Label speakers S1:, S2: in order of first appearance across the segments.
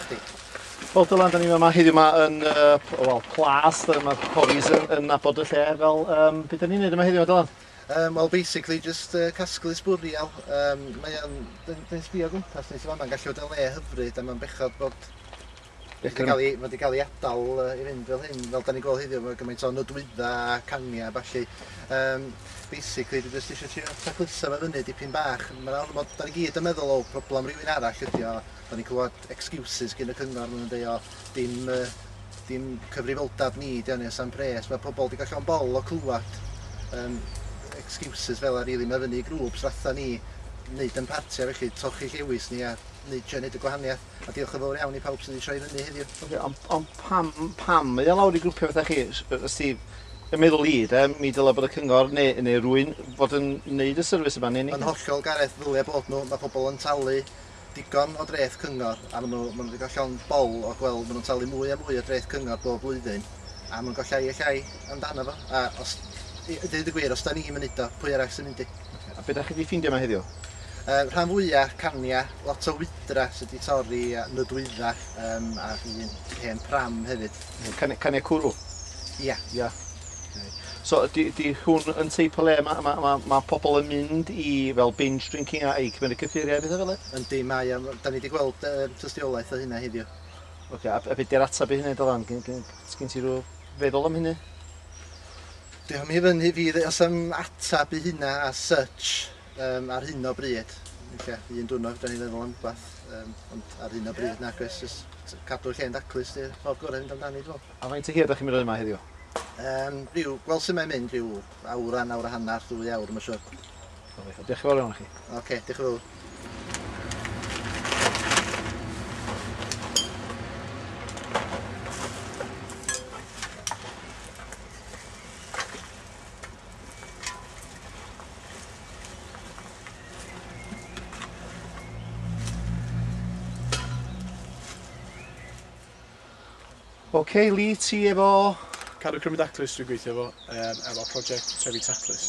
S1: chdi.
S2: Wel Dylan, da ni yma heddiw yma yn wel, Plas, mae Corys yn nabod y lle fel, beth da ni'n neud yma heddiw Dylan?
S1: Well, basically just casglu sbwriel. Mae o'n, dyn sbio gwmpas ni, so ma'n gallu bod yn le hyfryd a mae'n bechod bod mae wedi cael ei adael i fynd fel hyn, fel da ni'n gweld heddiw, mae gymaint o nodwydda a cania a ballu. Basically, dwi jyst eisiau trio tacluso fo fyny dipyn bach. Mae'n ormod, da ni gyd yn meddwl o problem rhywun arall ydi o. Da ni'n clywed excuses gyn y cyngor, maen nhw'n deud o dim cyfrifoldeb ni, di o'n am pres. Mae pobl wedi cael llond bol o clywed excuses fel a really, mae fyny i grŵps fatha ni wneud yn partia, felly trochi llewis ni a neud y gwahaniaeth. A diolch yn fawr iawn i pawb sydd wedi troi fyny heddiw.
S2: Okay, ond pam mae o lawr i grwpiau fatha chi, Steve, y meddwl i, de, mi dylai bod y cyngor neu rywun fod yn neud y service yma, neu ni?
S1: Yn hollol, Gareth, ddylia bod nhw, mae pobl yn talu digon o dreth cyngor, a maen nhw wedi cael llond bol o gweld, maen nhw'n talu mwy a mwy o dreth cyngor bob blwyddyn, a maen nhw'n cael llai a llai amdano fo. A os, i ddeud y gwir, os da ni'n mynd o, pwy arall sy'n mynd i?
S2: A be da chi wedi ffeindio yma heddiw?
S1: Rhan fwyaf cania, lot o wydra sydd wedi torri a nodwydda, a un hen pram hefyd.
S2: Cania cwrw?
S1: Ia.
S2: Ia. So, di hwn yn teip o le mae pobl yn mynd i fel binge drinking a i cymryd cyffuriau a bethau fel e?
S1: Yndi, mae, da ni wedi gweld tystiolaeth o hynna heddiw.
S2: Oce, a beth di'r ateb i hynny, Dylan? Sgyn ti rhyw feddwl am hynny?
S1: Diolch i fyny fi, os am ateb i hynna as such ar hyn o bryd. Ella, un diwrnod fedra ni feddwl am rwbath, ond ar hyn o bryd nag oes, jyst cadw'r lle'n daclus di'r ffordd gorau i fynd amdani, dwi'n meddwl.
S2: A faint o hir ydych chi'n mynd yma heddiw?
S1: Rhyw, gweld sut mae'n mynd, rhyw awr a awr a hanner, 2 awr, mae'n siŵr.
S2: Diolch yn fawr iawn i chi.
S1: Oce, diolch yn fawr.
S2: Oce, Lee, ti efo...
S3: Cadw Cymru Daclus dwi'n gweithio efo, efo prosiect Trefi Taclus.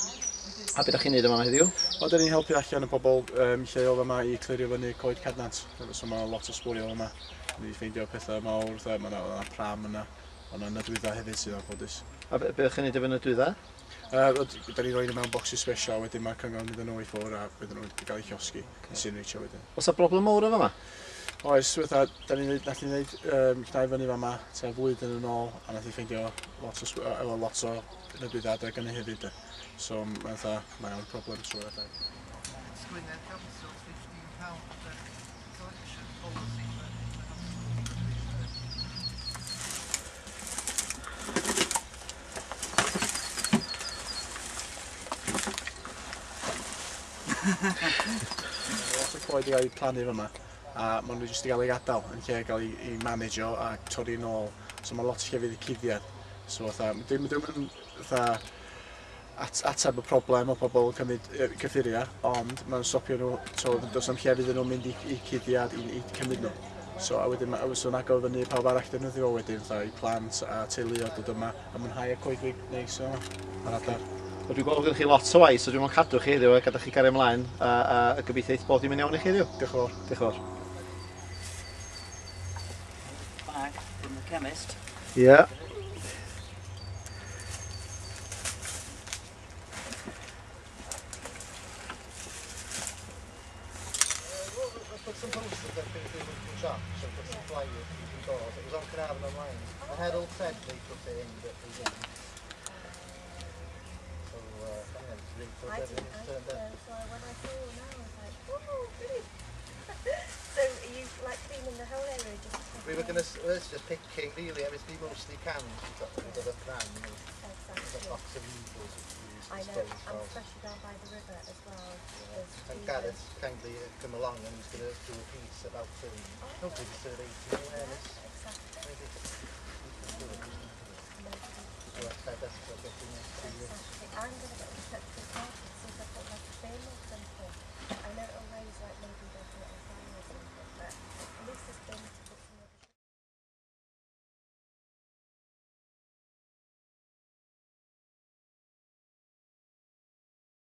S2: A beth ydych chi'n neud yma heddiw?
S3: Wel, da ni'n helpu allan y pobl lleol yma i clirio fyny coed cadnant. So mae lot o sbwriel yma. Ni wedi ffeindio pethau mawr, mae yna pram yna, ond yna nodwydda hefyd sydd anffodus.
S2: A be ydych chi'n neud efo nodwydda?
S3: Da ni'n rhoi nhw mewn bocsys special, wedyn mae cyngor yn mynd â nhw i ffwrdd a bydden nhw'n cael eu llosgi, incineratio wedyn.
S2: Oes 'na broblem mawr efo yma?
S3: Oes, fatha, da ni'n nath ni wneud llnau fyny fama tua flwyddyn yn ôl, a nath ni ffeindio lot o lot o nodwydda adeg yna hefyd. So mae'n fatha, mae o'n problem trwy'r adeg.
S1: It's Gwynedd Council's £15 collection policy.
S3: Lot o coed i gael eu plannu fyma, a maen nhw jyst i gael eu gadael yn lle gael eu manageo a torri nôl. So mae lot o llefydd i cuddiad. So fatha, dim yn fatha ateb y problem o pobl yn cymryd cyffuriau, ond mae'n stopio nhw, so does na'm llefydd iddyn nhw'n mynd i cuddiad i cymryd nhw. So a wedyn mae so agor fyny pawb arall defnyddio fo wedyn, fatha i plant a teuluoedd dod yma a mwynhau y coedwig neis yma ar adar.
S2: Wel, dwi'n gweld bod gennych chi lot o waith, so dwi'n mwyn cadw chi heddiw a gadael chi gario ymlaen a gobeithio eith bod dim yn iawn i chi heddiw.
S3: Diolch yn fawr.
S2: Diolch yn fawr.
S4: Bag from the chemist.
S2: Yeah.
S1: Let's put some posters up in the local shops and put some flyers you can go. It was on Caernarfon online. The Herald said they put it in, but they didn't. So, yeah, it's really
S5: I didn't
S1: everything's turned up.
S5: either, so when I saw now, I was like, oh, brilliant. So are you cleaning the whole area? Just
S1: We were going to, well, it's just picking really, I mean, it's mostly cans. We've got rid of the pram and
S5: Exactly.
S1: a box of needles which we use
S5: I
S1: to
S5: know,
S1: stone
S5: and
S1: as well.
S5: especially down by the river as well.
S1: Yeah.
S5: There's
S1: And
S5: even
S1: Gareth kindly come along and he's going to do a piece about hopefully just to raise some awareness.
S5: Yeah, exactly.
S1: Maybe. So that's how that's what getting into.
S5: Exactly. I'm going to get in touch with Mark and see if I've got